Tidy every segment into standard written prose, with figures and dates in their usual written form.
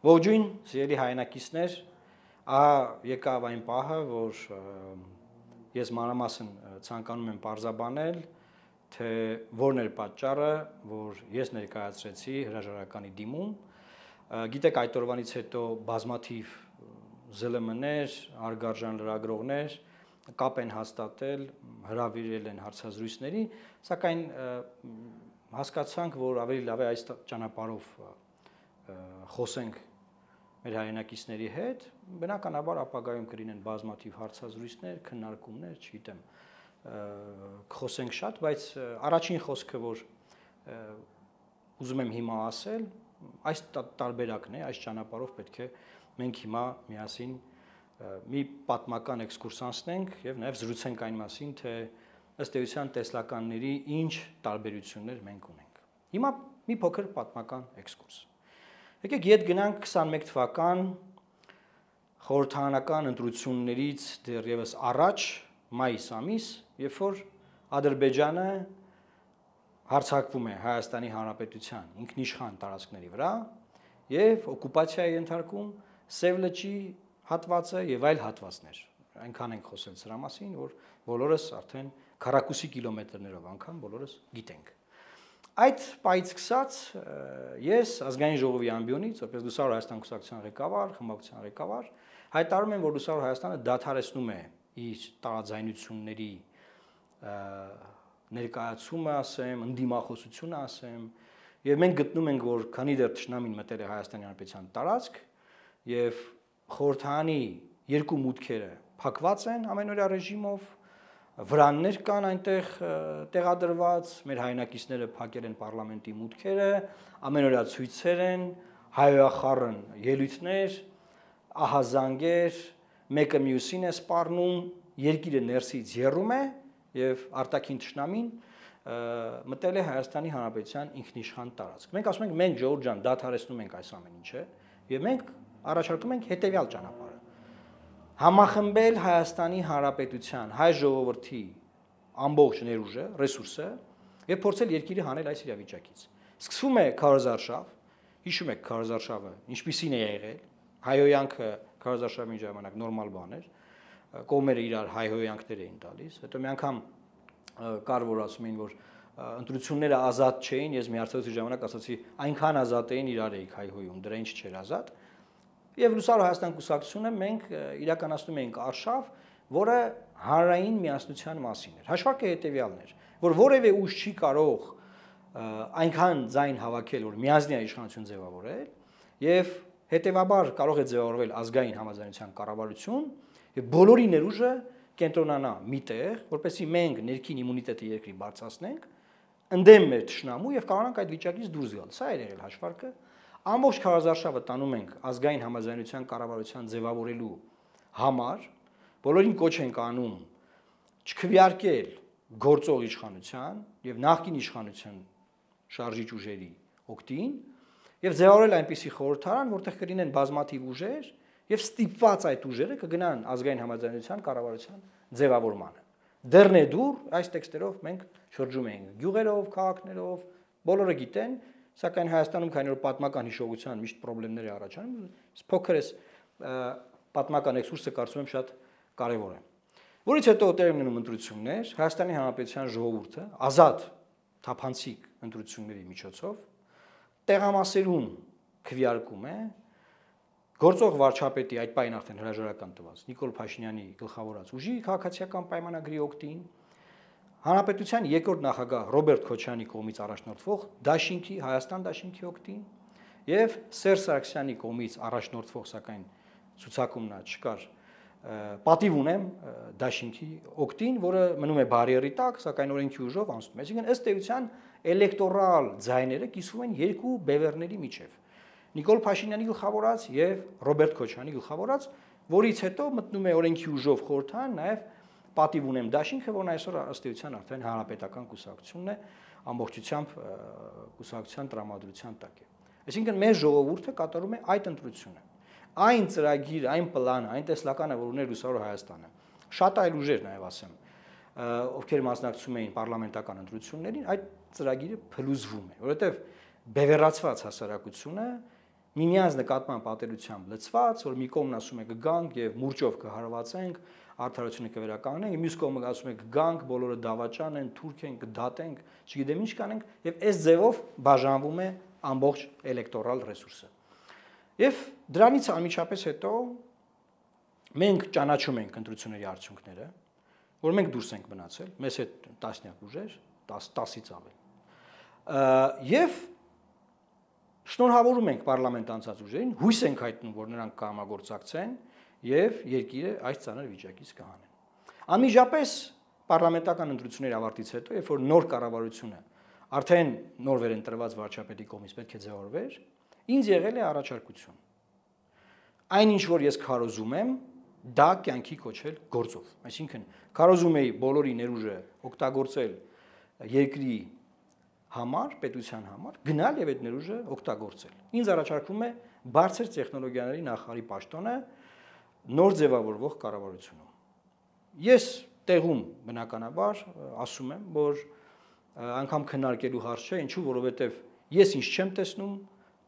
Ողջույն, սիրելի հայրենակիցներ, եկավ այն պահը, որ ես մանրամասն ցանկանում եմ պարզաբանել, թե որն էր պատճառը, որ ես ներկայացրեցի հրաժարականի դիմում։ Գիտեք, այդ օրվանից հետո բազմաթիվ ԶԼՄ-ներ, հարգարժան լրագրողներ կապ են հաստատել, հրավիրել են հարցազրույցների, սակայն հասկացանք, որ ավելի լավ է այս ճանապարհով խոսենք մեր հայրենակիցների հետ, բնականաբար ապագայում կլինեն բազմաթիվ հարցազրույցներ, քննարկումներ, չգիտեմ, կխոսենք շատ, բայց առաջին խոսքը, որ ուզում եմ հիմա ասել, այս տարբերակն է, այս ճանապարհով պետք է մենք հիմա միասին մի պատմական էքսկուրս անցնենք եւ նաեւ զրուցենք այն մասին, թե ըստ էության տեսլականների ինչ տարբերություններ մենք ունենք։ Հիմա մի փոքր պատմական էքսկուրս։ Եկեք ետ գնանք 21 թվական խորհրդարանական ընտրություններից դեռևս առաջ, մայիս ամիս, երբ որ Ադրբեջանը հարձակվում է Հայաստանի Հանրապետության ինքնիշխան տարածքների վրա եւ օկուպացիա է ենթարկում Սև լճի հատվածը եւ այլ հատվածներ։ Այնքան ենք խոսել սրա մասին, որ բոլորս արդեն քառակուսի կիլոմետրներով անգամ բոլորս գիտենք։ Այդ պայից սկսած ես ազգային ժողովի ամբիոնից, որպես Լուսավոր Հայաստան կուսակցության ղեկավար, խմբակցության ղեկավար, հայտարարում եմ, որ Լուսավոր Հայաստանը դադարեցնում է իր տարաձայնությունների ներկայացումը, ասեմ, ընդդիմախոսությունը, ասեմ, եւ մենք գտնում ենք, որ քանի դեռ թշնամին մտել է Հայաստանի Հանրապետության տարածք եւ խորհրդարանի երկու մուտքերը փակված են ամենօրյա ռեժիմով, վրաններ կան այնտեղ տեղադրված, մեր հայրենակիցները փակել են պարլամենտի մուտքերը, ամենօրյա ցույցեր են, հայոյախառն ելույթներ, ահազանգեր, մեկը մյուսին է սպառնում, երկիրը ներսից եռում է եւ արտաքին թշնամին մտել է Հայաստանի Հանրապետության ինքնիշխան տարածք։ Մենք ասում ենք, մենք ժողովուրդ ջան, դադարեցնում ենք այս ամեն ինչը եւ մենք առաջարկում ենք հետեւյալ ճանապարհը համախմբել Հայաստանի Հանրապետության հայ ժողովրդի ամբողջ ներուժը, ռեսուրսը եւ փորձել երկիրը հանել այս իրավիճակից։ Սկսվում է քարոզարշավ, հիշում եք քարոզարշավը, ինչպիսին է եղել, հայհոյանքը քարոզարշավի ժամանակ նորմալ բան էր, կողմերը իրար հայհոյանքներ էին տալիս, հետո մի անգամ կար որ ասում էին, որ ընտրությունները ազատ չէին, ես մի հարցազրույցի ժամանակ ասացի, այնքան ազատ էին իրար էիք հայհոյում, դրա ինչ չէր ազատ։ Եվ Լուսավոր Հայաստան կուսակցությունը մենք իրականացնում էինք արշավ, որը հանրային միասնության մասին էր։ Հաշվարկը հետևյալն էր, որ որևէ ուժ չի կարող այնքան ձայն հավաքել, որ միասնյա իշխանություն ձևավորել, եւ հետեւաբար կարող է ձևավորվել ազգային համաձայնության կառավարություն, եւ բոլորի ներուժը կենտրոնանա միտեղ, որպեսզի մենք ներքին իմունիտետը երկրի բարձրացնենք, ընդդեմ մեր թշնամու եւ կարողանանք այդ վիճակից դուրս գալ։ Սա էր եղել հաշվարկը։ Ամբողջ քարոզարշավը տանում ենք ազգային համաձայնության կառավարության ձևավորելու համար, բոլորին կոչ ենք անում չքվեարկել գործող իշխանության եւ նախկին իշխանության շարժիչ ուժերի օգտին եւ ձևավորել այնպիսի խորհրդարան, որտեղ կլինեն բազմաթիվ ուժեր եւ ստիպված այդ ուժերը կգնան ազգային համաձայնության կառավարության ձևավորմանը։ Դեռն է դուր այս տեքստերով մենք շրջում ենք գյուղերով, քաղաքներով, բոլորը գիտեն, սակայն Հայաստանում քանի որ պատմական հիշողության միշտ խնդիրներ է առաջանում, փոքր էս պատմական էքսկուրսը կարծում եմ շատ կարևոր է։ Որից հետո տեղ ունենում ընտրություններ, Հայաստանի Հանրապետության ժողովուրդը ազատ թափանցիկ ընտրությունների միջոցով տեղամասերում քվեարկում է գործող վարչապետի այդ պայն արդեն հրաժարական տված Նիկոլ Փաշինյանի գլխավորած ուժի քաղաքացիական պայմանագրի օգտին Հանրապետության երկրորդ նախագահ Ռոբերտ Քոչարյանի կողմից առաջնորդվող Դաշինքի Հայաստան Դաշինքի օգտին եւ Սերժ Սարգսյանի կողմից առաջնորդվող, սակայն ցուցակումն չկար, պատիվ ունեմ Դաշինքի օգտին, որը մնում է բարիերի տակ, սակայն օրենքի ուժով անցնում է։ Այսինքն ըստ էության էլեկտորալ ձայները կիսվում են երկու բևեռների միջև։ Նիկոլ Փաշինյանի գլխավորած եւ Ռոբերտ Քոչարյանի գլխավորած, որից հետո մտնում է օրենքի ուժով խորհրդարան նաեւ պատիվ ունեմ Դաշինքը, որն այսօր ըստ էության արդեն հանրապետական կուսակցությունն է, ամբողջությամբ կուսակցության տրամադրության տակ է։ Այսինքն մեր ժողովուրդը կատարում է այդ ընտրությունը։ Այն ծրագիրը, այն պլանը, այն տեսլականը, որ ուներ Լուսավոր Հայաստանը, շատ այլ ուժեր նաև ասեմ, ովքեր մասնակցում էին պարլամենտական ընտրություններին, այդ ծրագիրը փլուզվում է, որովհետև բևեռացված հասարակությունը միմյանց նկատմամբ պատերությամբ լցված, որ մի կողմն ասում է կգանք եւ մուրճով կհարվածենք, արդարությունը կվերականգնենք, մյուս կողմը ասում է կգանք, բոլորը դավաճան են, թուրք են, կդատենք, չգիտեմ ինչ կանենք, եւ այս ձևով բաժանվում է ամբողջ էլեկտորալ ռեսուրսը։ Եվ դրանից անմիջապես հետո մենք ճանաչում ենք ընտրությունների արդյունքները, որ մենք դուրս ենք մնացել, մեզ հետ տասնյակ ուժեր, 10-ից ավել։ Եվ շնորհավորում ենք պարլամենտ անցած ուժերին, հույս ենք հայտնում, որ նրանք կհամագործակցեն եւ երկիրը այս ծանր վիճակից կհանեն։ Անմիջապես պարլամենտական ընտրությունների ավարտից հետո, երբ որ նոր կառավարությունը արդեն նոր վերընտրված վարչապետի կողմից պետք է ձևավորվեր, ինձ եղել է առաջարկություն։ Այնինչ որ ես քարոզում եմ, դա կյանքի կոչել գործով։ Այսինքն քարոզում էի բոլորի ներուժը օգտագործել երկրի համար, պետության համար, գնալ եւ այդ ներուժը օգտագործել։ Ինձ առաջարկվում է բարձր տեխնոլոգիաների նախարարի պաշտոնը նոր ձևավորվող կառավարությունում։ Ես տեղում բնականաբար ասում եմ, որ անգամ քննարկելու հարց չէ, ինչու, որովհետեւ ես ինչ չեմ տեսնում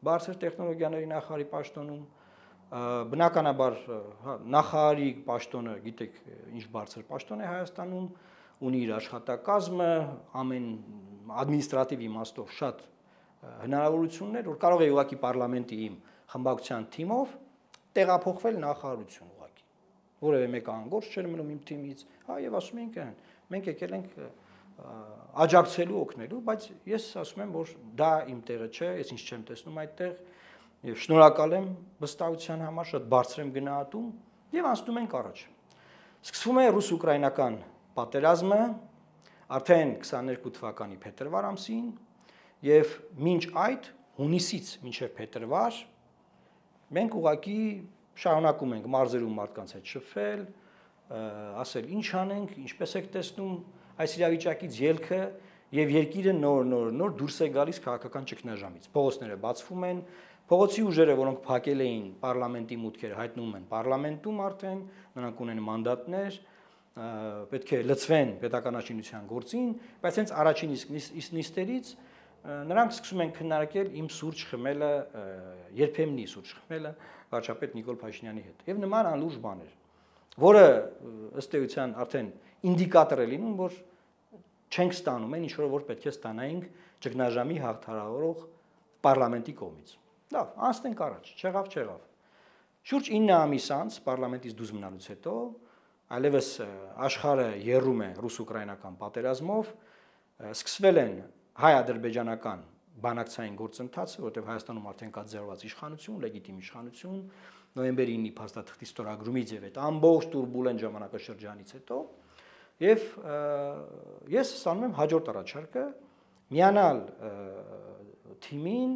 բարձր տեխնոլոգիաների նախարարի պաշտոնում, բնականաբար նախարարի պաշտոնը, գիտեք, ինչ բարձր պաշտոն է Հայաստանում, ունի իր աշխատակազմը, ամեն ադմինիստրատիվ իմաստով շատ հնարավորություններ, որ կարող է ուղղակի պարլամենտի իմ խմբակցության թիմով տեղափոխվել նախարարություն ուղղակի։ Որևէ մեկ անգործ չէր մնում իմ թիմից, եւ ասում ենք, մենք եկել ենք աջակցելու, օգնելու, բայց ես ասում եմ, որ դա իմ տեղը չէ, ես ինչ չեմ տեսնում այդտեղ, եւ շնորհակալ եմ վստահության համար, շատ բարձր եմ գնահատում եւ անցնում ենք առաջ։ Սկսվում է ռուս-ուկրաինական պատերազմը արդեն 22 թվականի փետրվար ամսին եւ մինչ այդ հունիսից մինչեւ փետրվար մենք ուղղակի շարունակում ենք մարզերում մարդկանց հետ շփվել, ասել ինչ անենք, ինչպես եք տեսնում այս իրավիճակից ելքը եւ երկիրը նոր դուրս է գալիս քաղաքական ճգնաժամից։ Փողոցները բացվում են, փողոցի ուժերը, որոնք փակել էին պարլամենտի մուտքերը, հայտնվում են պարլամենտում արդեն, նրանք ունեն մանդատներ, պետք է լծվեն պետականաշինության գործին, բայց հենց առաջին նիստերից նրանք սկսում են քննարկել իմ սուրճ խմելը, երբեմնի սուրճ խմելը վարչապետ Նիկոլ Փաշինյանի հետ։ Եվ նման անլուրջ բաներ, որը ըստ էության արդեն ինդիկատոր է լինում, որ չենք ստանում այն, ինչ որ պետք է ստանայինք ճգնաժամի հաղթահարող պարլամենտի կողմից։ Լավ, անցնենք առաջ, չեղավ։ Շուրջ 9 ամիս անց պարլամենտից դուրս մնալուց հետո այլևս աշխարհը եռում է ռուս-ուկրաինական պատերազմով, սկսվել են հայ-ադրբեջանական բանակցային գործընթացը, որտեղ Հայաստանում արդեն կա ձևավորված իշխանություն, լեգիտիմ իշխանություն, նոյեմբերի 9-ի փաստաթղթի ստորագրումից եւ այդ ամբողջ տուրբուլենտ ժամանակաշրջանից հետո, եւ ես ստանում եմ հաջորդ առաջարկը միանալ թիմին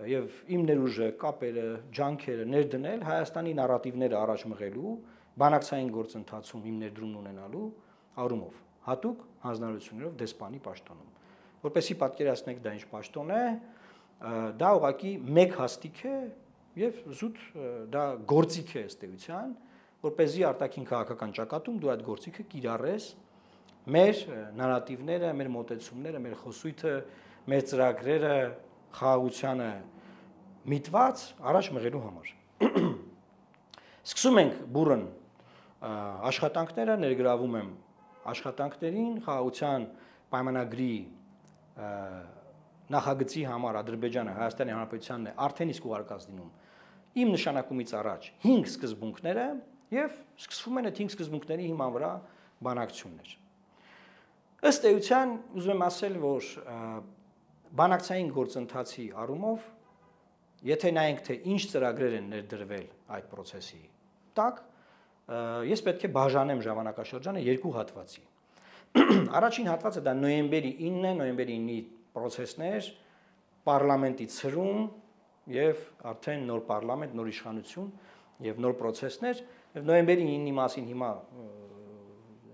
եւ իմ ներուժը, կապերը, ջանքերը ներդնել Հայաստանի նարատիվները առաջ մղելու, բանակցային գործընթացում իմ ներդրումն ունենալու առումով, հատուկ հանձնարարություններով դեսպանի պաշտոնում։ Որպեսզի պատկերացնեք դա ինչ պաշտոն է, դա ուղղակի մեկ հաստիք է եւ զուտ դա գործիք է ըստ էության, որպեսզի արտաքին քաղաքական ճակատում դու այդ գործիքը կիրառես մեր նարատիվները, մեր մոտեցումները, մեր խոսույթը, մեր ծրագրերը խաղաղությանը միտված առաջ մղելու համար։ Սկսում ենք բուրըն աշխատանքները, ներգրավում եմ աշխատանքներին, խաղաղության պայմանագրի նախագծի համար Ադրբեջանը Հայաստանի Հանրապետությանն է արդեն իսկ ուղարկած լինում իմ նշանակումից առաջ 5 սկզբունքները եւ սկսվում են այդ 5 սկզբունքների հիման վրա բանակցություններ։ Ըստ էության ուզում եմ ասել, որ բանակցային գործընթացի առումով, եթե նայենք թե ինչ ծրագրեր են ներդրվել այդ process-ի տակ, ես պետք է բաժանեմ ժամանակաշրջանը երկու հատվածի։ Առաջին հատվածը դա նոյեմբերի 9-ն է, նոյեմբերի 9-ի process-ներ, պարլամենտի ցրում եւ արդեն նոր պարլամենտ, նոր իշխանություն եւ նոր process-ներ, եւ նոյեմբերի 9-ի մասին հիմա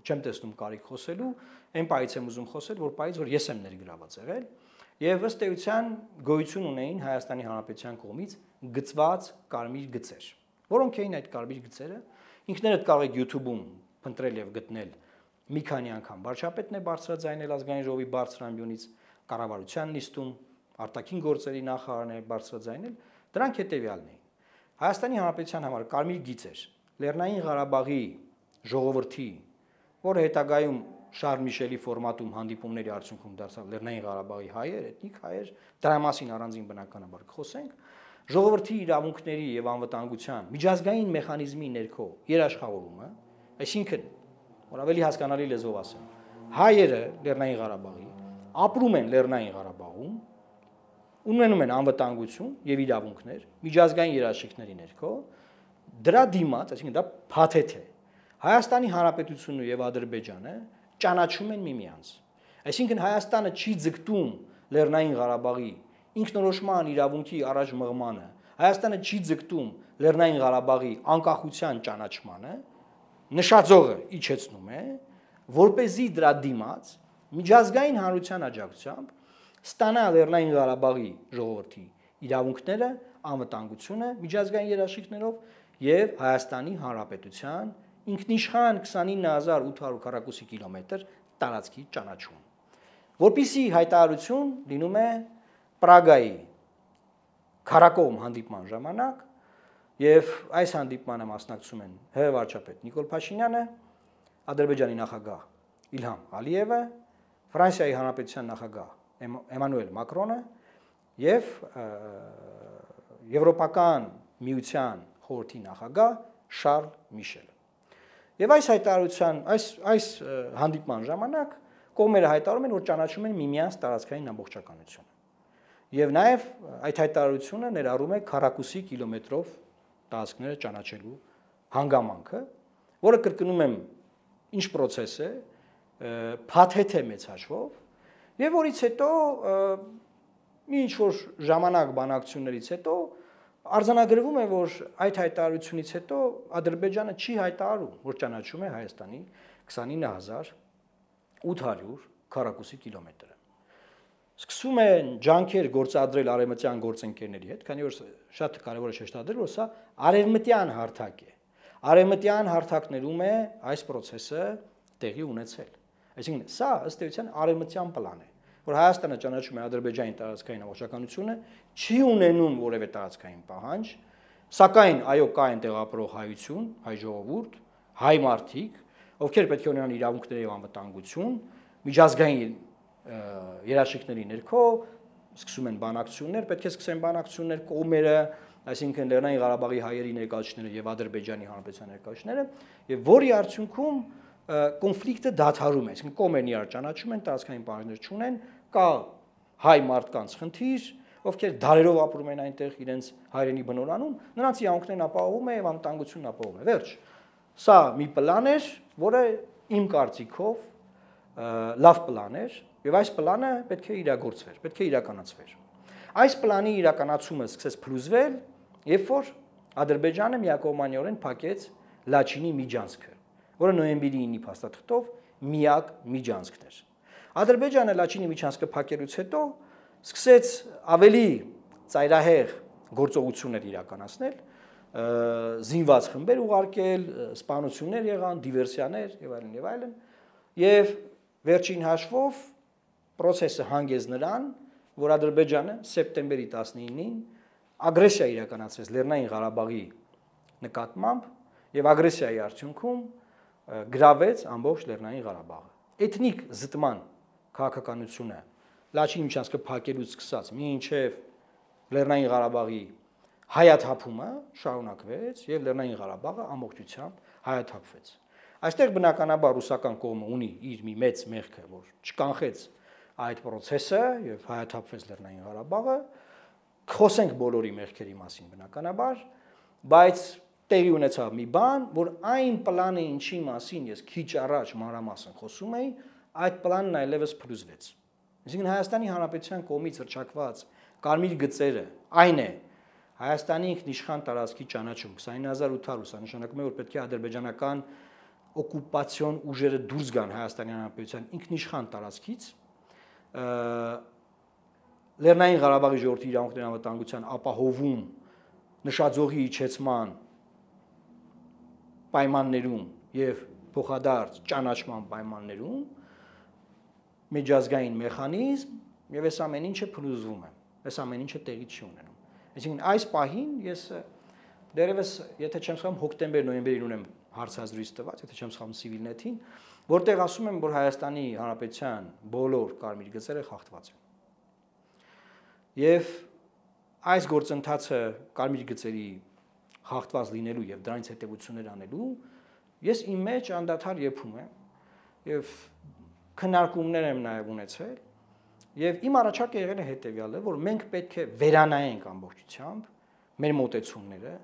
չեմ տեսնում կարիք խոսելու, այն պայից եմ ուզում խոսել, որ պայից որ ես եմ ներգրաված եղել, եւ ըստ էության գոյություն ունեին Հայաստանի Հանրապետության կողմից գծված կարմիր գծեր։ Որոնք էին այդ կարմիր գծերը։ Ինքներդ կարող եք YouTube-ում փնտրել եւ գտնել մի քանի անգամ վարչապետն է բարձրաձայնել ազգային ժողովի բարձր ամբիոնից, կառավարության նիստում արտաքին գործերի նախարարն է բարձրաձայնել, Դրանք հետևյալն էին։ Հայաստանի Հանրապետության համար կարմիր գիծ էր Լեռնային Ղարաբաղի ժողովրդի, որը հետագայում Շարլ Միշելի ֆորմատում հանդիպումների արդյունքում դարձավ Լեռնային Ղարաբաղի հայեր, էթնիկ հայեր, դրա մասին առանձին բնականաբար կխոսենք, ժողովրդի իրավունքների եւ անվտանգության միջազգային մեխանիզմի ներքո երաշխավորումը, այսինքն, որ ավելի հասկանալի լեզվով ասեմ, հայերը Լեռնային Ղարաբաղի ապրում են Լեռնային Ղարաբաղում, ունենում են անվտանգություն եւ իրավունքներ միջազգային երաշխիքների ներքո, դրա դիմաց, այսինքն դա փաթեթ է։ Հայաստանի Հանրապետությունն եւ Ադրբեջանը ճանաչում են միմյանց։ Այսինքն Հայաստանը չի ձգտում Լեռնային Ղարաբաղի ինքնորոշման իրավունքի առաջ մղմանը, Հայաստանը չի ձգտում Լեռնային Ղարաբաղի անկախության ճանաչմանը, նշաձողը իջեցնում է, որպեսզի դրա դիմաց միջազգային հանրության աջակցությամբ ստանա Լեռնային Ղարաբաղի ժողովրդի իրավունքները, անվտանգությունը միջազգային երաշխիքներով եւ Հայաստանի Հանրապետության ինքնիշխան 29800 քառակուսի կիլոմետր տարածքի ճանաչում։ Որպիսի հայտարարություն լինում է Պրագայի քարակոմ հանդիպման ժամանակ եւ այս հանդիպմանը մասնակցում են ՀՀ վարչապետ Նիկոլ Փաշինյանը, Ադրբեջանի նախագահ Իլհամ Ալիևը, Ֆրանսիայի Հանրապետության նախագահ Էմանուել Մակրոնը եւ Եվրոպական միության խորհրդի նախագահ Շարլ Միշելը։ Եվ այս հայտարարության, այս հանդիպման ժամանակ կողմերը հայտարարում են, որ ճանաչում են միմյանց տարածքային ամբողջականությունը։ Եվ նաև այդ հայտարարությունը ներառում է քառակուսի կիլոմետրով տարածքները ճանաչելու հանգամանքը, որը կրկնում եմ, ինչ process է, փաթեթ է մեծ հաշվով, եւ որից հետո մի ինչ-որ ժամանակ բանակցություններից հետո արձանագրվում է, որ այդ հայտարարությունից հետո Ադրբեջանը չի հայտարարում, որ ճանաչում է Հայաստանի 29800 քառակուսի կիլոմետրը։ Սկսում են ջանքեր գործադրել արևմտյան գործընկերների հետ, քանի որ շատ կարևոր է շեշտադրել, որ սա արևմտյան հարթակ է։ Արևմտյան հարթակներում է այս process-ը տեղի ունեցել։ Այսինքն սա ըստ էության արևմտյան պլան է, որ Հայաստանը ճանաչում է Ադրբեջանի տարածքային ամբողջականությունը, չի ունենում որևէ տարածքային պահանջ, սակայն այո կա այնտեղ ապրող հայություն, հայ ժողովուրդ, հայ մարդիկ, ովքեր պետք է ունենան իրավունքներ եւ անվտանգություն, միջազգային երաշխիքների ներքո սկսում են բանակցություններ, պետք է սկսեն բանակցություններ կողմերը, այսինքն Լեռնային Ղարաբաղի հայերի ներկայացուցիչները եւ Ադրբեջանի Հանրապետության ներկայացուցիչները, եւ որի արդյունքում կոնֆլիկտը դադարում է, այսինքն կողմերն իրար ճանաչում են, տարածքային պահանջներ չունեն, կա հայ մարդկանց խնդիր, ովքեր դարերով ապրում են այնտեղ իրենց հայրենի բնորանում, նրանց իրավունքներն ապահովում է եւ անվտանգությունն ապահովում է։ Վերջ։ Սա մի պլան էր, որը իմ կարծիքով լավ պլան էր, եւ այս պլանը պետք է իրագործվեր, պետք է իրականացվեր։ Այս պլանի իրականացումը սկսեց փլուզվել, երբ որ Ադրբեջանը միակողմանիորեն փակեց Լաչինի միջանցքը, որը նոյեմբերի 9-ի փաստաթղթով միակ միջանցքն էր։ Ադրբեջանը Լաչինի միջանցքը փակելուց հետո սկսեց ավելի ծայրահեղ գործողություններ իրականացնել, զինված խմբեր ուղարկել, սպանություններ եղան, դիվերսիաներ եւ այլն եւ այլն, եւ վերջին հաշվով process-ը հանգեց նրան, որ Ադրբեջանը սեպտեմբերի 19-ին ագրեսիա իրականացրեց Լեռնային Ղարաբաղի նկատմամբ եւ ագրեսիայի արդյունքում գրավեց ամբողջ Լեռնային Ղարաբաղը։ Էթնիկ զտման քաղաքականությունը Լաչինի միջանցքը փակելուց սկսած մինչև Լեռնային Ղարաբաղի հայաթափումը շարունակվեց եւ Լեռնային Ղարաբաղը ամբողջությամբ հայաթափվեց։ Այստեղ բնականաբար ռուսական կողմը ունի իր մի մեծ մեղքը, որ չկանխեց այդ process-ը եւ հայաթափվեց Լեռնային Ղարաբաղը, խոսենք բոլորի մեղքերի մասին բնականաբար, բայց տեղի ունեցավ մի բան, որ այն պլանը ինչի մասին ես քիչ առաջ մանրամասն խոսում էի, այդ պլանն այլևս փլուզվեց։ Այսինքն Հայաստանի Հանրապետության կողմից հռչակված կարմիր գծերը այն է Հայաստանի ինքնիշխան տարածքի ճանաչում 29800, սա նշանակում է, որ պետք է ադրբեջանական օկուպացիոն ուժերը դուրս գան Հայաստանի Հանրապետության ինքնիշխան տարածքից, Լեռնային Ղարաբաղի ժողովրդի իրավունքների անվտանգության ապահովում նշաձողի իջեցման պայմաններում եւ փոխադարձ ճանաչման պայմաններում միջազգային մեխանիզմ եւ այս ամեն ինչը փլուզվում է, այս ամեն ինչը տեղի չի ունենում։ Այսինքն այս պահին ես դերևս եթե չեմ սխալվում հոկտեմբեր-նոյեմբերին ունեմ հարցազրույց տված, եթե չեմ սխալվում Civilnet-ին, որտեղ ասում եմ, որ Հայաստանի Հանրապետության բոլոր կարմիր գծերը խախտված են։ Եվ այս գործընթացը կարմիր գծերի խախտված լինելու եւ դրանից հետեւություններ անելու ես իմ մեջ անդադար եփում եմ եւ քննարկումներ եմ նաեւ ունեցել եւ իմ առաջարկը եղել է հետեւյալը, որ մենք պետք է վերանայենք ամբողջությամբ մեր մոտեցումները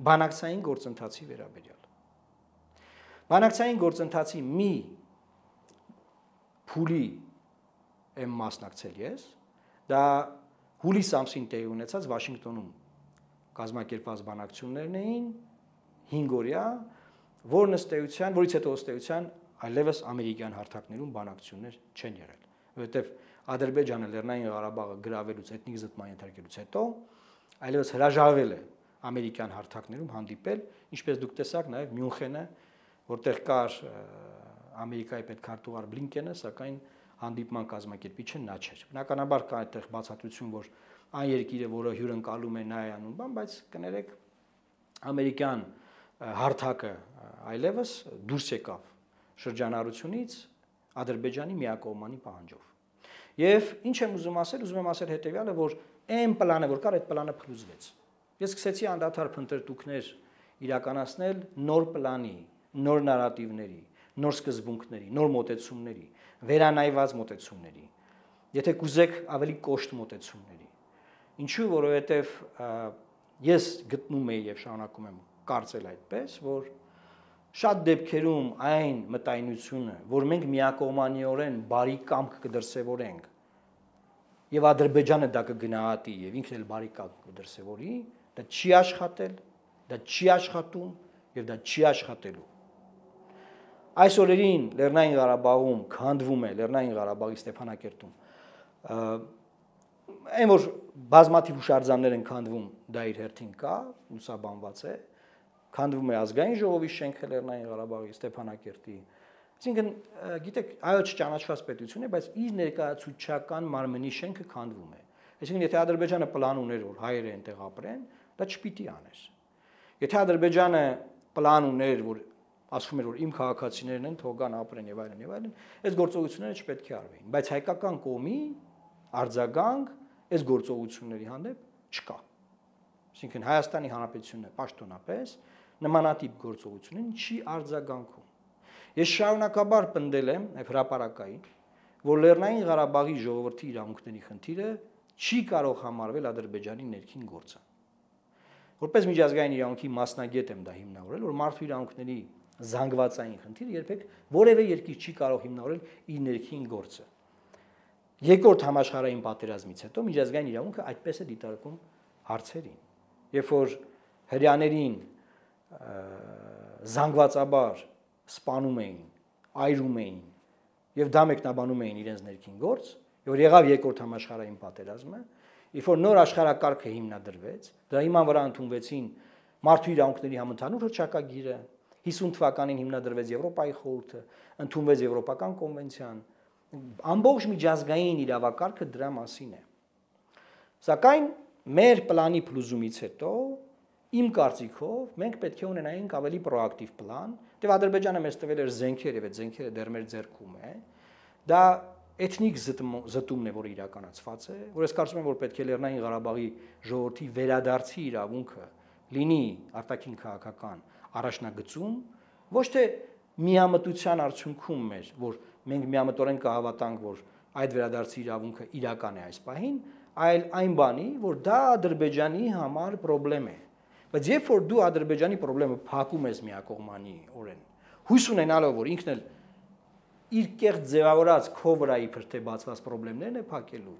բանակցային գործընթացի վերաբերյալ։ Բանակցային գործընթացի մի փուլի եմ մասնակցել ես, դա հուլիս ամսին տեղի ունեցած Վաշինգտոնում կազմակերպված բանակցություններն էին 5 օրյա, որից հետո ըստ էության այլևս ամերիկյան հարթակներում բանակցություններ չեն եղել, որովհետև Ադրբեջանը Լեռնային Ղարաբաղը գրավելուց, էթնիկ զտման ենթարկելուց հետո այլևս հրաժարվել է ամերիկյան հարթակներում հանդիպել, ինչպես դուք տեսաք նաև Մյունխենը, որտեղ կար Ամերիկայի պետքարտուղար Բլինկենը, սակայն հանդիպման կազմակերպիչը նա չէր։ Բնականաբար կա այդտեղ բացատրություն, որ այն երկիրը, որը հյուրընկալում է նա է անում բան, բայց կներեք ամերիկյան հարթակը այլևս դուրս եկավ շրջանառությունից Ադրբեջանի միակողմանի պահանջով։ Եվ ինչ եմ ուզում ասել հետեւյալը, որ այն պլանը, որ կար, այդ պլանը փլուզվեց։ Ես սկսեցի անդադար փնտրտուքներ իրականացնել նոր պլանի, նոր նարատիվների, նոր սկզբունքների, նոր մոտեցումների, վերանայված մոտեցումների, եթե կուզեք ավելի կոշտ մոտեցումների։ Ինչու, որովհետև ես գտնում եի եւ շարունակում եմ կարծել այդպես, որ շատ դեպքերում այն մտայնությունը, որ մենք միակողմանիորեն բարի կամք կդրսևորենք եւ Ադրբեջանը դա կգնահատի եւ ինքն էլ բարի կամք կդրսևորի, դա չի աշխատել, դա չի աշխատում եւ դա չի աշխատելու։ Այս օրերին Լեռնային Ղարաբաղում քանդվում է Լեռնային Ղարաբաղի Ստեփանակերտում այն որ բազմաթիվ հուշարձաններ են քանդվում, դա իր հերթին կա, լուսաբանված է, քանդվում է ազգային ժողովի շենքը Լեռնային Ղարաբաղի Ստեփանակերտի։ Այսինքն, գիտեք, այո չճանաչված պետություն է, բայց իր ներկայացուցչական մարմնի շենքը քանդվում է։ Այսինքն, եթե Ադրբեջանը պլան ուներ, որ հայերը այնտեղ ապրեն, դա չպիտի աներ։ Եթե Ադրբեջանը պլան ուներ, որ ասում էր, որ իմ քաղաքացիներն են, թող գան ապրեն եւ այլն, այս գործողությունները չպետք է արվեին, բայց հայկական կողմի արձագանք այս գործողությունների հանդեպ չկա։ Այսինքն Հայաստանի Հանրապետությունը պաշտոնապես նմանատիպ գործողություններին չի արձագանքում։ Ես շարունակաբար պնդել եմ եւ հրապարակային, որ Լեռնային Ղարաբաղի ժողովրդի իրավունքների խնդիրը չի կարող համարվել Ադրբեջանի ներքին գործը։ Որպես միջազգային իրավունքի մասնագետ եմ դա հիմնավորել, որ մարդու իրավունքների զանգվածային խնդիրը երբեք որևէ երկիր չի կարող հիմնավորել իր ներքին գործը։ Երկրորդ համաշխարհային պատերազմից հետո միջազգային իրավունքը այդպես է դիտարկում հարցերին։ Երբ որ հրյաներին զանգվածաբար սպանում էին, այրում էին եւ դա մեկնաբանում էին իրենց ներքին գործ, որ եղավ երկրորդ համաշխարհային պատերազմը, երբ որ նոր աշխարհակարգը հիմնադրվեց, դրա հիման վրա ընդունվեցին մարդու իրավունքների համընդհանուր հռչակագիրը, 50 թվականին հիմնադրվեց Եվրոպայի խորհուրդը, ընդունվեց Եվրոպական կոնվենցիան, ամբողջ միջազգային իրավակարգը դրա մասին է։ Սակայն մեր պլանի փլուզումից հետո իմ կարծիքով մենք պետք է ունենայինք ավելի պրոակտիվ պլան, դեպի Ադրբեջանը մեզ տվել էր զենքեր եւ այդ զենքերը դեռ մեր ձեռքում է։ Դա էթնիկ զտումն է, որը իրականացված է, որ ես կարծում եմ, որ պետք է Լեռնային Ղարաբաղի ժողովրդի վերադարձի իրավունքը լինի արտաքին քաղաքական առաջնագծում, ոչ թե միամտության արդյունքում մեր, որ մենք միամտորեն կհավատանք, որ այդ վերադարձի իրավունքը իրական է այս պահին, այլ այն բանի, որ դա Ադրբեջանի համար խնդրեմ է։ Բայց երբ որ դու Ադրբեջանի խնդրեմը փակում ես միակողմանի օրեն, հույս ունենալով, որ ինքն էլ իր կեղծ ձևավորած քո վրա իբր թե բացված խնդիրներն է փակելու,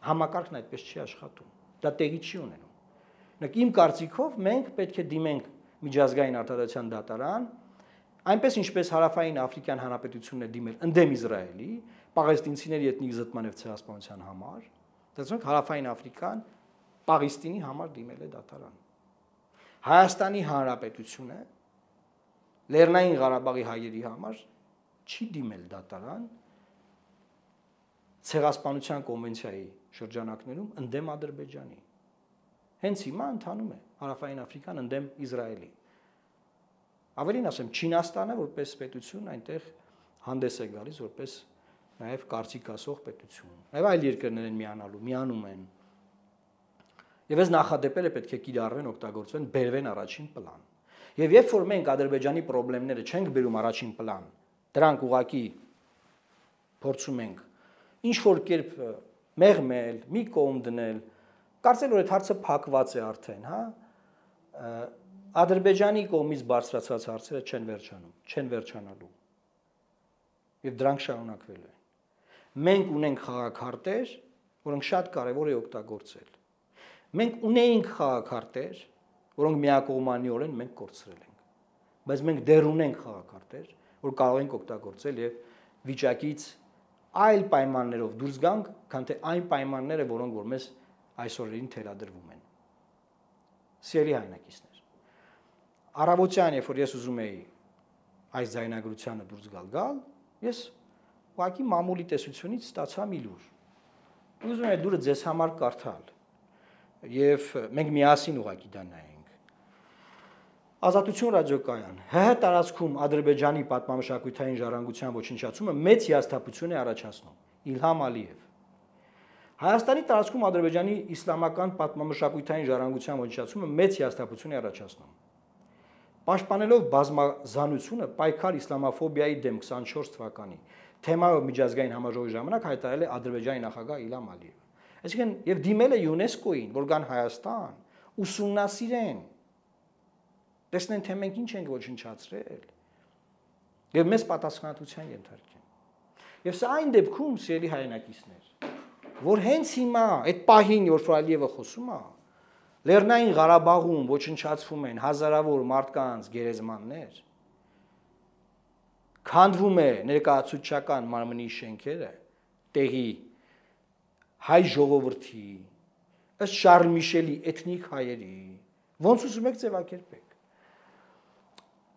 համակարգն այդպես չի աշխատում։ Դա տեղի չի ունենում։ Նույնիսկ իմ կարծիքով մենք պետք է դիմենք միջազգային արտադրության դատարան, այնպես ինչպես Հարավային Աֆրիկյան Հանրապետությունն է դիմել ընդդեմ Իսրայելի, պաղեստինցիների էթնիկ զտման եւ ցեղասպանության համար, դասոնք Հարավային Աֆրիկան Պաղեստինի համար դիմել է դատարան։ Հայաստանի Հանրապետությունը Լեռնային Ղարաբաղի հայերի համար չի դիմել դատարան ցեղասպանության կոնվենցիայի շրջանակներում ընդդեմ Ադրբեջանի։ Հենց հիմա ընթանում է Հարավային Աֆրիկան ընդդեմ Իսրայելի։ Ավելին ասեմ, Չինաստանը որպես պետություն այնտեղ հանդես է գալիս որպես նաև կարծիք ասող պետություն։ Նաև այլ երկրներ են միանալու, միանում են։ Եվ այս նախադեպերը պետք է կիրառվեն, օգտագործվեն, բերվեն առաջին պլան։ Եվ երբ որ մենք Ադրբեջանի խնդիրները չենք բերում առաջին պլան, դրանք ուղղակի փորձում ենք ինչ որ կերպ մեղմել, մի կողմ դնել, կարծել որ այդ հարցը փակված է արդեն, հա։ Ադրբեջանի կողմից բարձրացած հարցերը չեն վերջանալու։ Եվ դրանք շարունակվելու են։ Մենք ունենք խաղաքարտեր, որոնք շատ կարևոր է օգտագործել։ Մենք ունեինք խաղաքարտեր, որոնք միակողմանիորեն մենք կորցրել ենք։ Բայց մենք դեռ ունենք խաղաքարտեր, որ կարող ենք օգտագործել եւ վիճակից այլ պայմաններով դուրս գանք, քան թե այն պայմանները, որոնք որ մեզ այսօրերին թելադրվում են։ Սիրելի հայրենակիցներ, առավոտյան, երբ որ ես ուզում էի այս ձայնագրությանը դուրս գալ, ես ուղղակի մամուլի տեսությունից ստացա մի լուր։ Ուզում եմ այդ լուրը ձեզ համար կարդալ, եւ մենք միասին ուղղակի դա նայենք։ Ազատություն ռադիոկայան ՀՀ տարածքում Ադրբեջանի պատմամշակութային ժառանգության ոչնչացումը մեծ հիասթափություն է առաջացնում։ Իլհամ Ալիև։ Հայաստանի տարածքում Ադրբեջանի իսլամական պատմամշակութային ժառանգության ոչնչացումը մեծ հիասթափություն է առաջացնում։ Պաշտպանելով բազմազանությունը պայքար իսլամաֆոբիայի դեմ 24 թվականի թեմայով միջազգային համաժողովի ժամանակ հայտարարել է Ադրբեջանի նախագահ Իլհամ Ալիևը։ Այսինքն եւ դիմել է ՅՈՒՆԵՍԿՕ-ին, որ գան Հայաստան, ուսումնասիրեն, տեսնեն թե մենք ինչ ենք ոչնչացրել եւ մեզ պատասխանատվության ենթարկեն։ Եվ սա այն դեպքում, սիրելի հայրենակիցներ, որ հենց հիմա այդ պահին, որ Ալիևը խոսում է, Լեռնային Ղարաբաղում ոչնչացվում են հազարավոր մարդկանց գերեզմաններ, քանդվում է ներկայացուցչական մարմնի շենքերը, տեղի հայ ժողովրդի, ըստ Շարլ Միշելի էթնիկ հայերի, ոնց ուզում եք ձևակերպեք,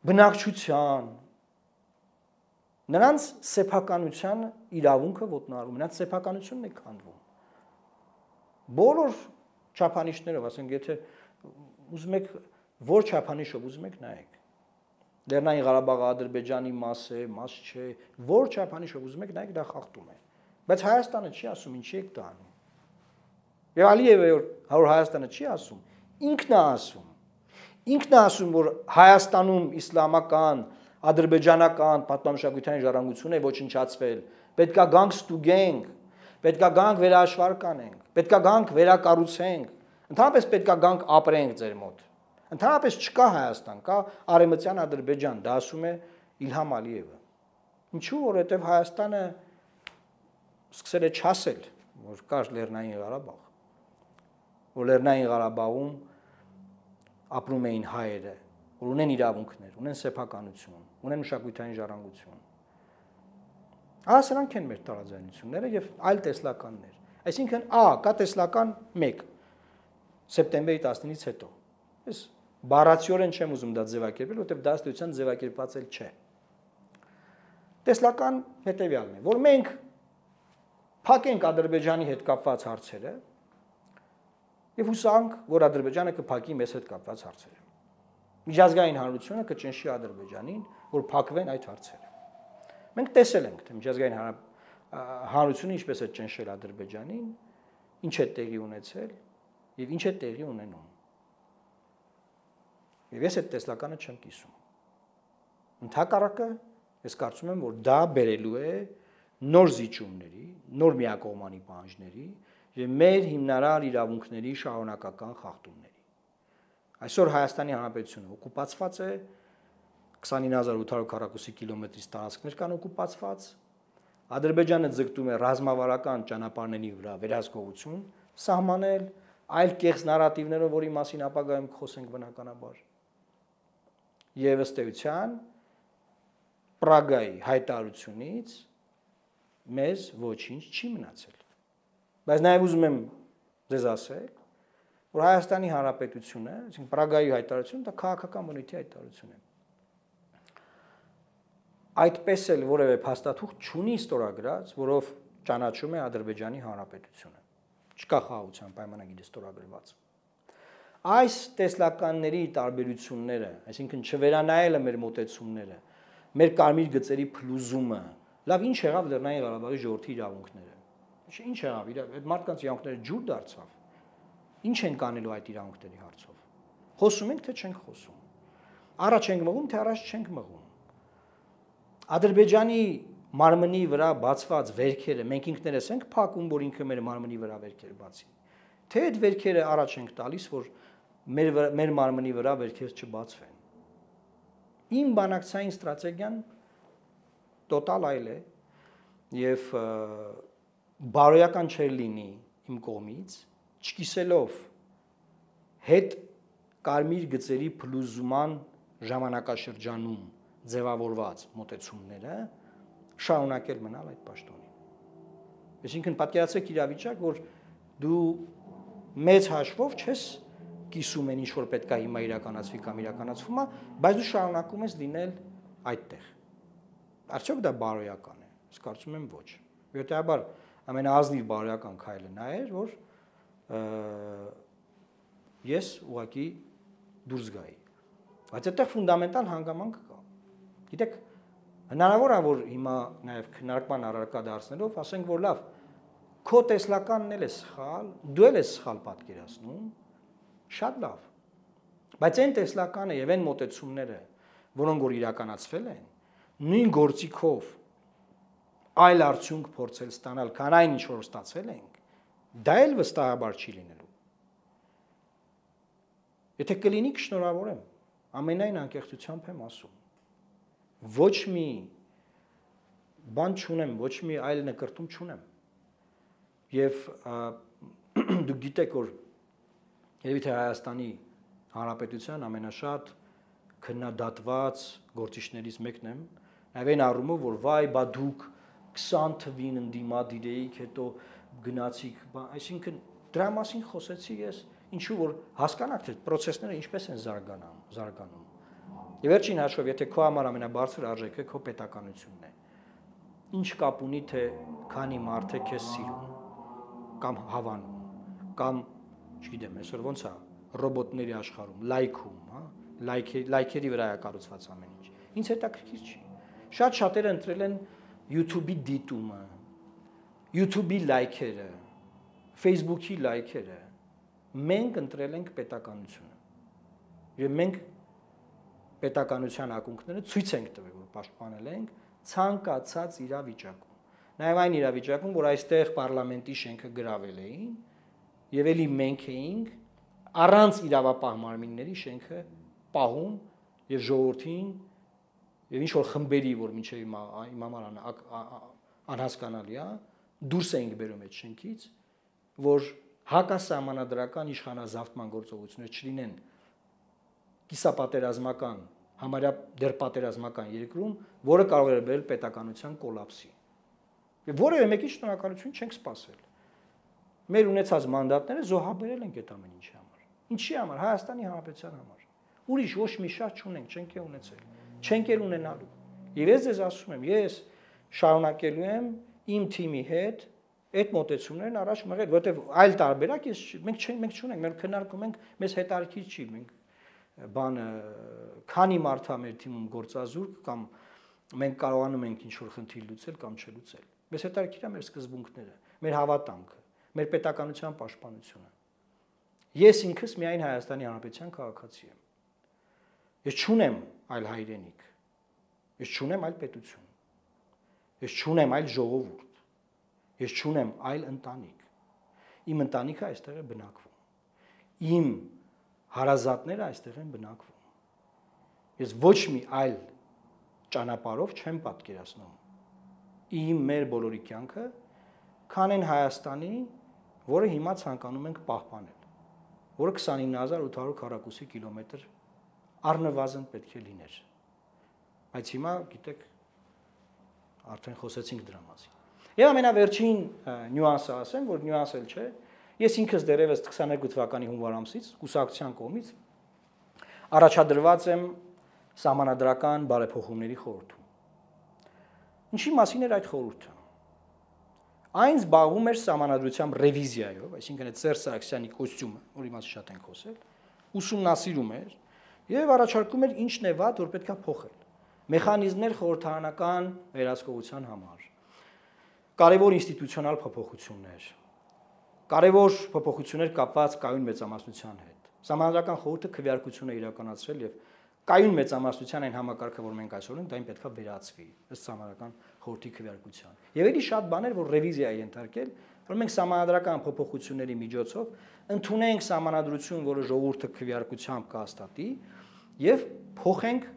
բնակչության, նրանց սեփականության իրավունքը ոտնահարում, նրանց սեփականությունն է քանդվում։ Բոլոր չափանիշներով, ասենք, եթե ուզում եք որ չափանիշով ուզում եք նայեք։ Լեռնային Ղարաբաղը Ադրբեջանի մաս է, մաս չէ, որ չափանիշով ուզում եք նայեք, դա խախտում է։ Բայց Հայաստանը չի ասում, ինչի եք դա անում։ Եվ Ալիևը որ Հայաստանը չի ասում, ինքն է ասում։ Ինքն է ասում, որ Հայաստանում իսլամական, ադրբեջանական պատմամշակութային ժառանգություն է ոչնչացվել, պետքա գանք ստուգենք, պետքա գանք վերահաշվար կանենք, պետքա գանք վերակառուցենք, ընդհանրապես պետքա գանք ապրենք ձեր մոտ։ Ընդհանրապես չկա Հայաստան, կա Արևմտյան Ադրբեջան, դա ասում է Իլհամ Ալիևը։ Ինչու, որովհետև Հայաստանը սկսել է չասել, որ կար Լեռնային Ղարաբաղ, որ Լեռնային Ղարաբաղում ապրում էին հայերը, որ ունեն իրավունքներ, ունեն սեփականություն, ունեն մշակութային ժառանգություն։ Սրանք են մեր տարաձայնությունները եւ այլ տեսլականներ։ Այսինքն, կա տեսլական 1 սեպտեմբերի 19-ից հետո։ Ես բառացիորեն չեմ ուզում դա ձևակերպել, որովհետեւ դա ըստեյության ձևակերպված էլ չէ։ Տեսլական հետեւյալն է, որ մենք փակենք Ադրբեջանի հետ կապված հարցերը եւ հուսանք, որ Ադրբեջանը կփակի մեզ հետ կապված հարցերը։ Միջազգային հանրությունը կճնշի Ադրբեջանին, որ փակվեն այդ հարցերը։ Մենք տեսել ենք, թե միջազգային հանրությունը ինչպես է ճնշել Ադրբեջանին, ինչ է տեղի ունեցել եւ ինչ է տեղի ունենում։ Եվ ես այդ տեսլականը չեմ կիսում։ Ընդհակառակը, ես կարծում եմ, որ դա բերելու է նոր զիջումների, նոր միակողմանի պահանջների եւ մեր հիմնարար իրավունքների շարունակական խախտումների։ Այսօր Հայաստանի Հանրապետությունը օկուպացված է, 29840 կիլոմետրից տարածքներ կան օկուպացված, Ադրբեջանը ձգտում է ռազմավարական ճանապարհների վրա վերահսկողություն սահմանել, այլ կեղծ նարատիվներով, որի մասին ապագայում խոսենք բնականաբար։ Եվ ըստ էության Պրագայի հայտարարությունից մեզ ոչինչ չի մնացել։ Բայց նաև ուզում եմ ձեզ ասել, որ Հայաստանի Հանրապետությունը, այսինքն Պրագայի հայտարարությունը, դա քաղաքական բնույթի հայտարարություն է։ Այդպես էլ որևէ փաստաթուղթ չունի ստորագրած, որով ճանաչում է Ադրբեջանի Հանրապետությունը։ Չկա խաղաղության պայմանագիրը ստորագրված։ Այս տեսլականների տարբերությունները, այսինքն չվերանայելը մեր մոտեցումները, մեր կարմիր գծերի փլուզումը, լավ ինչ եղավ Լեռնային Ղարաբաղի ժողովրդի իրավունքները։ Ինչ եղավ, այդ մարդկանց իրավունքները ջուր դարձավ։ Ինչ ենք անելու այդ իրավունքների հարցով։ Խոսում ենք, թե չենք խոսում։ Առաջ ենք մղում, թե առաջ չենք մղում։ Ադրբեջանի մարմնի վրա բացված վերքերը մենք ինքներս ենք փակում, որ ինքը մեր մարմնի վրա վերքեր բացի։ Թե այդ վերքերը առաջ ենք տալիս, որ մեր մարմնի վրա վերքեր չբացվեն։ Իմ բանակցային ստրատեգիան տոտալ այլ է եւ բարոյական չէր լինի իմ կողմից, չկիսելով հետ կարմիր գծերի փլուզման ժամանակաշրջանում ձևավորված մոտեցումները շարունակել մնալ այդ պաշտոնին։ Այսինքն պատկերացրեք իրավիճակ, որ դու մեծ հաշվով չես կիսում են ինչ որ պետք է հիմա իրականացվի կամ իրականացվում է, բայց դու շարունակում ես լինել այդտեղ։ Արդյոք դա բարոյական է։ Ես կարծում եմ ոչ։ Վերջաբար ամենաազնիվ բարոյական քայլը նա էր, որ ես ուղղակի դուրս գայի։ Բայց այդտեղ ֆունդամենտալ հանգամանք կա։ Գիտեք, հնարավոր է որ հիմա նաև քննարկման առարկա դարձնելով ասենք որ լավ, քո տեսլականն էլ է սխալ, դու էլ ես սխալ պատկերացնում, շատ լավ։ Բայց այն տեսլականը եւ այն մոտեցումները, որոնք որ իրականացվել են, նույն գործիքով այլ արդյունք փորձել ստանալ, քան այն ինչ որ ստացել ենք, դա էլ վստահաբար չի լինելու։ Եթե կլինի, կշնորհավորեմ, ամենայն անկեղծությամբ եմ ասում։ Ոչ մի բան չունեմ, ոչ մի այլ նկրտում չունեմ։ Եվ դուք գիտեք, որ երևի թե Հայաստանի Հանրապետության ամենաշատ քննադատված գործիչներից մեկն եմ, նաև այն առումով, որ վայ, բա դուք 20 թվին ընդդիմադիր էիք, հետո գնացիք, այսինքն դրա մասին խոսեցի ես, ինչու որ հասկանաք, թե process-ները ինչպես են զարգանում։ Եվ վերջին հաշվով, եթե քո համար ամենաբարձր արժեքը քո պետականությունն է, ինչ կապ ունի, թե քանի մարդ է քեզ սիրում, կամ հավանում, կամ, չգիտեմ, այսօր ոնց է, ռոբոտների աշխարհում, լայքում, հա, լայքերի վրա է կառուցված ամեն ինչ։ Ինձ հետաքրքիր չի։ Շատ շատերը ընտրել են YouTube-ի դիտումը, YouTube-ի լայքերը, Facebook-ի լայքերը։ Մենք ընտրել ենք պետականությունը։ Եվ մենք պետականության ակունքները ցույց ենք տվել, որ պաշտպանել ենք ցանկացած իրավիճակում։ Նաև այն իրավիճակում, որ այստեղ պարլամենտի շենքը գրավել էին, եւ էլի մենք էինք առանց իրավապահ մարմինների շենքը պահում եւ ժողովրդին եւ ինչ որ խմբերի, որ մինչեւ հիմա անհասկանալի է, դուրս էինք բերում այդ շենքից, որ հակասահմանադրական իշխանազավթման գործողություններ չլինեն կիսապատերազմական, համարյա դեռ պատերազմական երկրում, որը կարող է բերել պետականության կոլապսի։ Եվ որևէ մեկի շնորհակալություն չենք սպասել։ Մեր ունեցած մանդատները զոհաբերել ենք այդ ամեն ինչի համար։ Ինչի համար? Հայաստանի Հանրապետության համար։ Ուրիշ ոչ մի շահ չունենք, չենք է ունեցել, չենք էլ ունենալու։ Եվ ես ձեզ ասում եմ, ես շարունակելու եմ իմ թիմի հետ այդ մոտեցումներն առաջ մղել, որովհետև այլ տարբերակ մենք չունենք, մենք քննարկում ենք, մեզ հետաքրքիր չի, մենք բանը քանի մարդ է մեր թիմում գործազուրկ կամ մենք կարողանում ենք ինչ-որ խնդիր լուծել կամ չլուծել։ Մեզ հետաքրքիր է մեր սկզբունքները, մեր հավատամքը, մեր պետականության պաշտպանությունը։ Ես ինքս միայն Հայաստանի Հանրապետության քաղաքացի եմ։ Ես չունեմ այլ հայրենիք։ Ես չունեմ այլ պետություն։ Ես չունեմ այլ ժողովուրդ։ Ես չունեմ այլ ընտանիք։ Իմ ընտանիքը այստեղ է բնակվում։ Իմ հարազատները այստեղ են բնակվում։ Ես ոչ մի այլ ճանապարհով չեմ պատկերացնում իմ մեր բոլորի կյանքը, քան այն Հայաստանի, որը հիմա ցանկանում ենք պահպանել, որը 29800 քառակուսի կիլոմետր առնվազն պետք է լիներ։ Բայց հիմա, գիտեք, արդեն խոսեցինք դրա մասին։ Եվ ամենավերջին նյուանսը ասեմ, որ նյուանս էլ չէ, ես ինքս դեռևս 22 թվականի հունվար ամսից կուսակցության կողմից առաջադրված եմ սահմանադրական բարեփոխումների խորհրդում։ Ինչի մասին էր այդ խորհուրդը։ Այն զբաղվում էր սահմանադրությամբ ռևիզիայով, այսինքն այդ Սերժ Սարգսյանի կոստյումը, որի մասին շատ ենք խոսել, ուսումնասիրում էր եւ առաջարկում էր ինչն է վատ, որ պետքա փոխել։ Մեխանիզմներ խորհրդարանական վերահսկողության համար։ Կարևոր ինստիտուցիոնալ փոփոխություններ։ Կարևոր փոփոխություններ կապված կայուն մեծամասնության հետ։ Սահմանադրական խորհուրդը քվեարկություն է իրականացրել եւ կայուն մեծամասնության այն համակարգը, որ մենք այսօր ունենք, դա պետքա վերացվի ըստ սահմանադրական խորհրդի քվեարկության։ Եվ էլի շատ բաներ, որ ռևիզիա է ենթարկել, որ մենք սահմանադրական փոփոխությունների միջոցով ընդունենք սահմանադրություն, որը ժողովուրդը քվեարկությամբ կհաստատի եւ փոխենք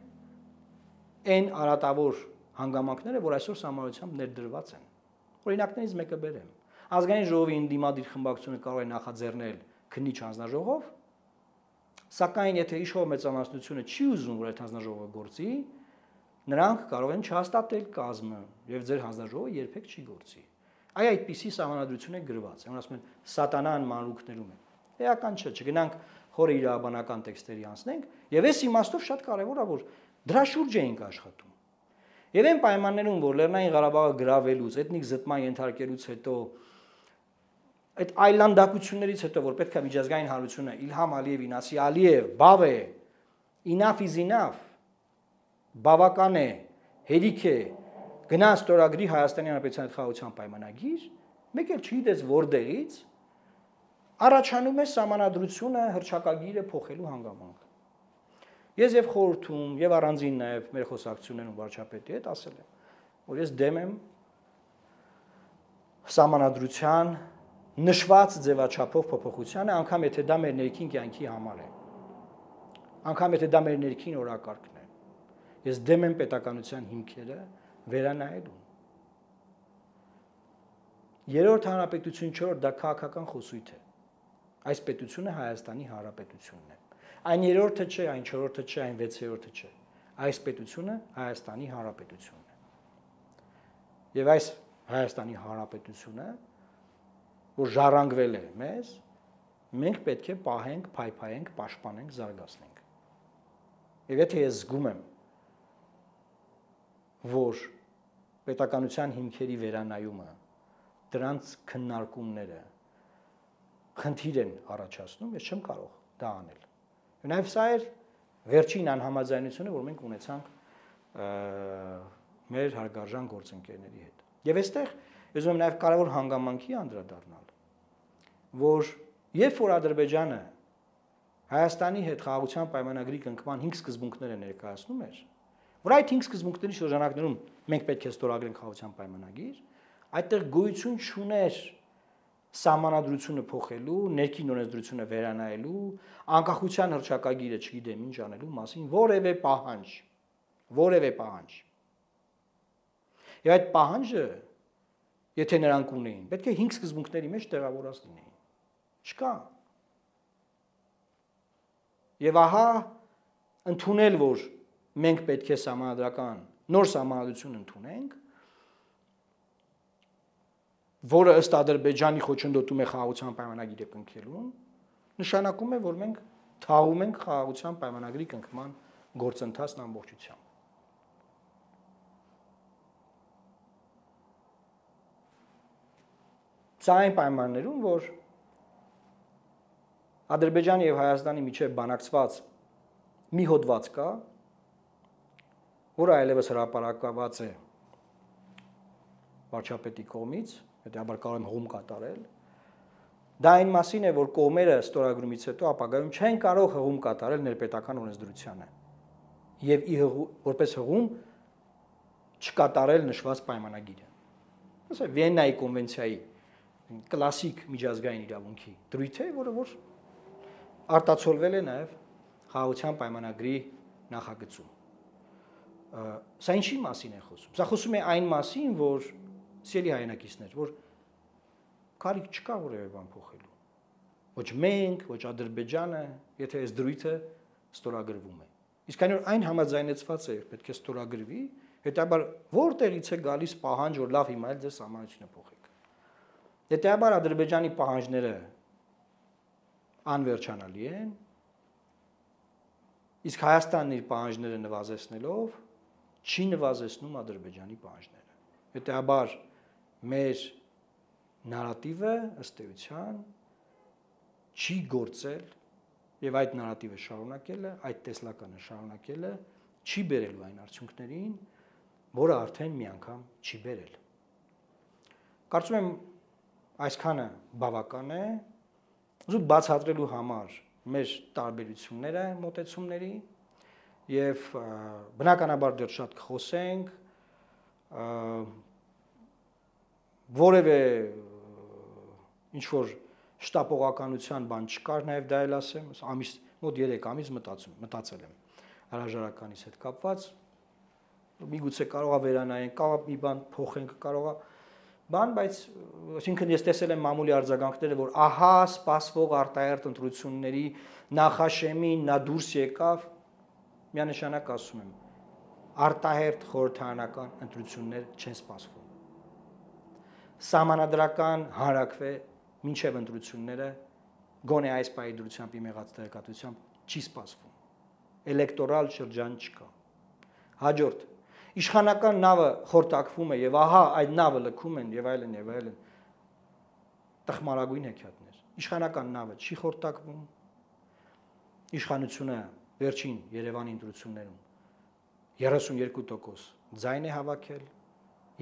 այն արատավոր հանգամանքները, որ այսօր սահմանադրությամբ ներդրված են։ Օրինակներից մեկը բերեմ։ Ազգային ժողովի ընդդիմադիր խմբակցությունը կարող է նախաձեռնել քննիչ հանձնաժողով, սակայն եթե իշխող մեծամասնությունը չի ուզում, որ այդ հանձնաժողովը գործի, նրանք կարող են չհաստատել կազմը եւ ձեր հանձնաժողովը երբեք չի գործի։ Այդպիսի սահմանադրություն է գրված։ Այն ասում են սատանան մանրուքներում է։ Էական չէ, չգնանք խորը իրավաբանական տեքստերի անցնենք, եւ այս իմաստով շատ կարեւոր է, որ դրա շուրջ էինք աշխատում։ Եվ այն պայմաններում, որ Լեռնային Ղարաբաղը գրավելուց, էթնիկ զտման ենթարկելուց հետո, այդ այլանդակություններից հետո, որ պետք է միջազգային հանրությունը Իլհամ Ալիևին ասի Ալիև, բավ է, enough is enough, բավական է, հերիք է, գնա ստորագրի Հայաստանի Հանրապետության հետ խաղաղության պայմանագիր, մեկ էլ չգիտես որտեղից առաջանում է սահմանադրությունը հռչակագիրը փոխելու հանգամանք։ Ես եւ խորհրդում եւ առանձին նաեւ մեր խոսակցություններում վարչապետի հետ ասել եմ, որ ես դեմ եմ սահմանադրության նշված ձևաչափով փոփոխությանը, անգամ եթե դա մեր ներքին կյանքի համար է, անգամ եթե դա մեր ներքին օրակարգն է։ Ես դեմ եմ պետականության հիմքերը վերանայելուն։ Երրորդ հանրապետություն 4 դա քաղաքական խոսույթ է։ Այս պետությունը Հայաստանի Հանրապետությունն է։ Այն երրորդը չէ, այն չորրորդը չէ, այն վեցերորդը չէ։ Այս պետությունը Հայաստանի Հանրապետությունն է։ Եվ այս Հայաստանի Հանրապետությունը, որ ժառանգվել է մեզ, մենք պետք է պահենք, փայփայենք, պաշտպանենք, զարգացնենք։ Եվ եթե ես զգում եմ, որ պետականության հիմքերի վերանայումը, դրանց քննարկումները խնդիր են առաջացնում, ես չեմ կարող դա անել։ Նաև սա էր վերջին անհամաձայնությունը, որ մենք ունեցանք մեր հարգարժան գործընկերների հետ։ Եվ այստեղ ես ուզում եմ նաև կարևոր հանգամանքի անդրադառնալ, որ երբ որ Ադրբեջանը Հայաստանի հետ խաղաղության պայմանագրի կնքման 5 սկզբունքներ է ներկայացնում էր, որ այդ 5 սկզբունքների շրջանակներում մենք պետք է ստորագրենք խաղաղության պայմանագիր, այդտեղ գոյություն չուներ սահմանադրությունը փոխելու, ներքին օրենսդրությունը վերանայելու, անկախության հռչակագիրը չգիտեմ ինչ անելու մասին որևէ պահանջ։ Եվ այդ պահանջը, եթե նրանք ունեին, պետք է 5 սկզբունքների մեջ տեղավորած լինեին։ Չկա։ Եվ ահա ընդունել, որ մենք պետք է սահմանադրական նոր սահմանադրություն ընդունենք, որը ըստ Ադրբեջանի խոչընդոտում է խաղաղության պայմանագիրը կնքելուն, նշանակում է, որ մենք թաղում ենք խաղաղության պայմանագրի կնքման գործընթացն ամբողջությամբ։ Սա այն պայմաններում, որ Ադրբեջանի եւ Հայաստանի միջև բանակցված մի հոդված կա, որը այլևս հրապարակված է վարչապետի կողմից, հետեւաբար կարող եմ հղում կատարել։ Դա այն մասին է, որ կողմերը ստորագրումից հետո ապագայում չեն կարող հղում կատարել ներպետական օրենսդրությանը եւ որպես հղում չկատարել նշված պայմանագիրը։ Ասա Վիեննայի կոնվենցիայի կլասիկ միջազգային իրավունքի դրույթ է, որը արտացոլվել է նաև խաղաղության պայմանագրի նախագծում։ Սա ինչի մասին է խոսում։ Սա խոսում է այն մասին, որ սիրելի հայրենակիցներ, որ կարիք չկա որևէ բան փոխելու։ Ոչ մենք, ոչ Ադրբեջանը, եթե այս դրույթը ստորագրվում է։ Իսկ այն համաձայնեցված է, պետք է ստորագրվի, հետաբար որտեղից է գալիս պահանջ, որ լավ հիմա էլ ձեր սահմանությունը փոխեք։ Հետաբար Ադրբեջանի պահանջները անվերջանալի են, իսկ Հայաստանն իր պահանջները նվազեցնելով չի նվազեցնում Ադրբեջանի պահանջները։ Հետաբար մեր նարատիվը ըստ էության չի գործել եւ այդ նարատիվը շարունակելը, այդ տեսլականը շարունակելը չի բերելու այն արդյունքներին, որը արդեն մի անգամ չի բերել։ Կարծում եմ այսքանը բավական է զուտ բացատրելու համար մեր տարբերությունները մոտեցումների եւ բնականաբար դեռ շատ կխոսենք որևէ ինչ որ շտապողականության բան չկար նաեւ դա էլ ասեմ ամիս մոտ 3 ամիս մտածել եմ հրաժարականից հետ կապված միգուցե կարողա վերանայենք կարող մի բան փոխենք կարողա բան բայց այսինքն ես տեսել եմ մամուլի արձագանքները որ ահա սպասվող արտահերթ ընտրությունների նախաշեմին նա դուրս եկավ միանշանակ ասում եմ արտահերթ խորհրդարանական ընտրություններ չեն սպասվում սահմանադրական հանրակրվե մինչև ընտրությունները գոնե այս պահի դրությամբ իմ եղած տեղեկատվությամբ չի սպասվում էլեկտորալ շրջան չկա հաջորդ իշխանական նավը խորտակվում է եւ ահա այդ նավը լքում են եւ այլն տխմարագույն հեքիաթներ իշխանական նավը չի խորտակվում իշխանությունը վերջին Երևանի ընտրություններում 32% ձայն է հավաքել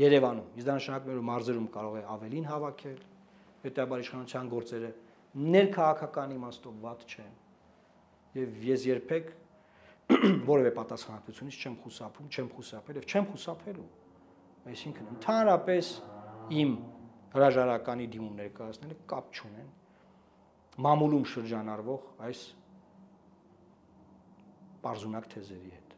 Երևանում իսկ դա նշանակում է որ մարզերում կարող է ավելին հավաքել հետեւաբար իշխանության գործերը ներքաղաքական իմաստով վատ չեն եւ ես երբեք որևէ պատասխանատվությունից չեմ խուսափել եւ չեմ խուսափելու այսինքն ընդհանրապես իմ հրաժարականի դիմում ներկայացնելը կապ չունեն մամուլում շրջանառվող այս պարզունակ թեզերի հետ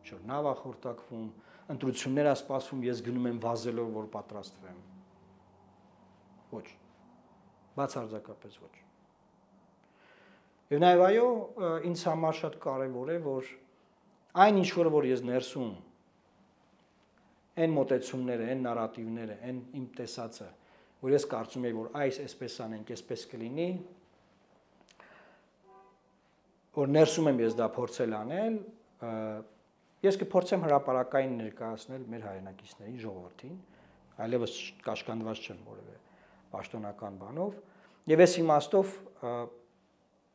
որ նավա խորտակվում ընտրություններ ասպասվում ես գնում եմ վազելով որ պատրաստվեմ ոչ բացարձակապես ոչ Եվ նաև այո, ինձ համար շատ կարևոր է, որ այն ինչ որ ես ներսում այն մոտեցումները, այն նարատիվները, այն իմ տեսածը, որ ես կարծում եմ, որ այսպես անենք, այսպես կլինի, որ ներսում եմ ես դա փորձել անել, ես կփորձեմ հրապարակային ներկայացնել մեր հայրենակիցներին, ժողովրդին, այլևս կաշկանդված չեմ որևէ պաշտոնական բանով, եւ այս իմաստով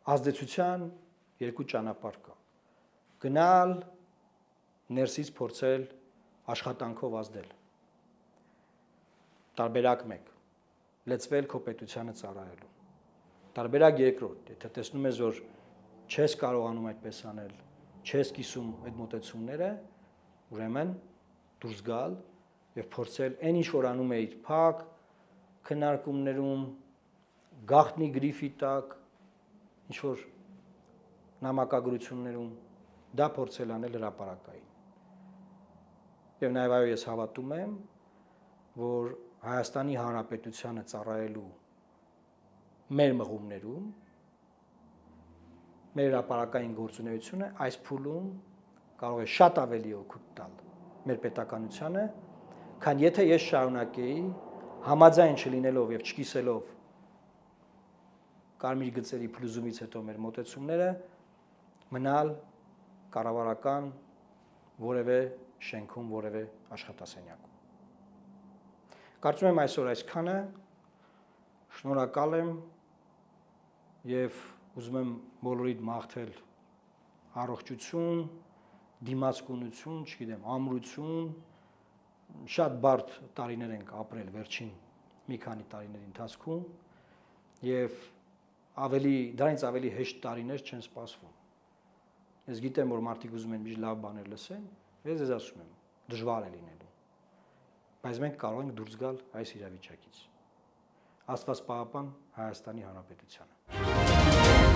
ազդեցության երկու ճանապարհ կա գնալ ներսից փորձել աշխատանքով ազդել տարբերակ 1 լծվել քո պետությանը ծառայելու տարբերակ 2 եթե տեսնում ես որ չես կարողանում այդպես անել չես կիսում այդ մոտեցումները ուրեմն դուրս գալ եւ փորձել այն ինչ որ անում էիր փակ քննարկումներում գաղտնի գրիֆի տակ ինչ որ նամակագրություններում դա փորձել անել հրապարակային եւ նաեւ այո ես հավատում եմ որ Հայաստանի Հանրապետությանը ծառայելու մեր մղումներում մեր հրապարակային գործունեությունը այս փուլում կարող է շատ ավելի օգուտ տալ մեր պետականությանը քան եթե ես շարունակեի համաձայն չլինելով եւ չկիսելով կարմիր գծերի փլուզումից հետո մեր մոտեցումները մնալ կառավարական որևէ շենքում, որևէ աշխատասենյակում։ Կարծում եմ այսօր այսքանը, շնորհակալ եմ եւ ուզում եմ բոլորիդ մաղթել առողջություն, դիմացկունություն, չգիտեմ, ամրություն, շատ բարդ տարիներ ենք ապրել վերջին մի քանի տարիների ընթացքում եւ դրանից ավելի հեշտ տարիներ չեն սպասվում։ Ես գիտեմ, որ մարդիկ ուզում են միշտ լավ բաներ լսեն, ես ձեզ ասում եմ, դժվար է լինելու։ Բայց մենք կարող ենք դուրս գալ այս իրավիճակից։ Աստված պահապան Հայաստանի Հանրապետությանը։